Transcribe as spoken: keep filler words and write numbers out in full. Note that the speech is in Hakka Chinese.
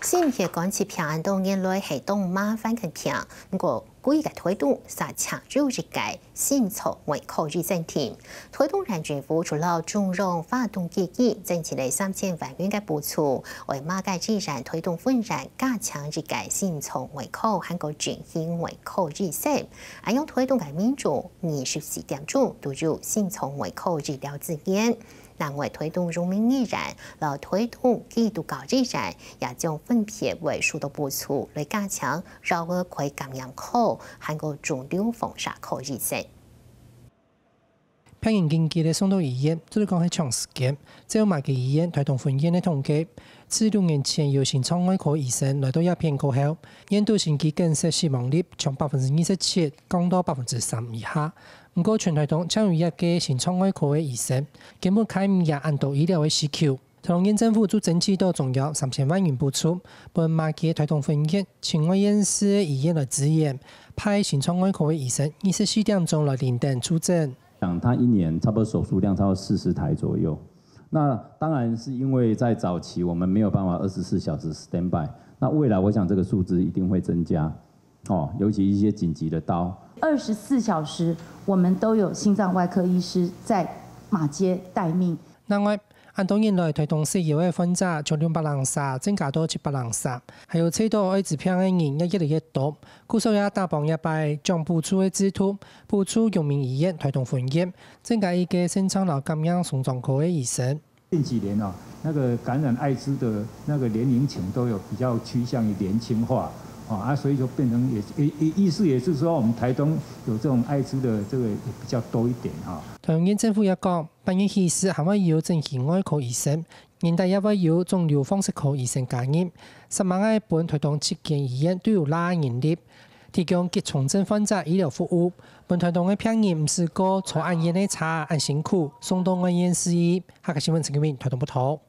心血管疾病恁多年來係當麻煩个病，毋過規个臺東煞淨有一个心臟外科醫生添。臺東縣政府除了中央發動基金，增設了三千萬元个補助，為馬偕醫院臺東分院加請一个心臟外科還過整形外科醫生，恁樣臺東个民眾二十四點鐘都有心臟外科醫療資源。 另外，臺東榮民醫院摎臺東基督教醫院也將分別會收到補助，來加強腰仔蓋感染科還過腫瘤放射科醫生。病人緊急个送到醫院，做得講係搶時間。照馬偕醫院臺東分院个統計，自六年前有心臟外科醫生來到這片過後，院肚心肌梗塞死亡率從百分之二十七降到百分之三以下。 毋過全臺東淨有一个心臟外科个醫生，根本開毋贏恁多醫療个需求。臺東縣政府就爭取到中央三千萬元補助，分馬偕臺東分院、親外縣市个醫院來支援，派心臟外科个醫生二十四點鐘來輪等就診。像他一年差不多手術量超過四十台左右，那當然是因為在早期我們沒有辦法二十四小時 standby，那未來我想這個數字一定會增加。 哦，尤其一些緊急的刀。二十四小時，我們都有心臟外科醫師在馬偕待命。另外，恁多年來，臺東食藥个患者從兩百零儕增加到七百零儕，還有得著愛滋病个人也越來越多。故所也打幫這擺獎補助个制度，補助榮民醫院臺東分院，增加一个腎臟摎感染心臟科个醫生。 近幾年啊，那個感染艾滋的那個年齡層都有比較趨向於年輕化，啊，啊，所以說變成也，也，也意思也是說，我們臺東有這種艾滋的這個也比較多一點啊。臺東縣政府也講，八月起勢還會有整形外科醫生，年底也會有腫瘤放射科醫生加入，煞猛愛分臺東七間醫院都有罅人力，提供急重症患者醫療服務，分臺東个病人毋使過坐恁遠个車恁辛苦，送到外縣市去。 客家新聞陳金明，臺東報導。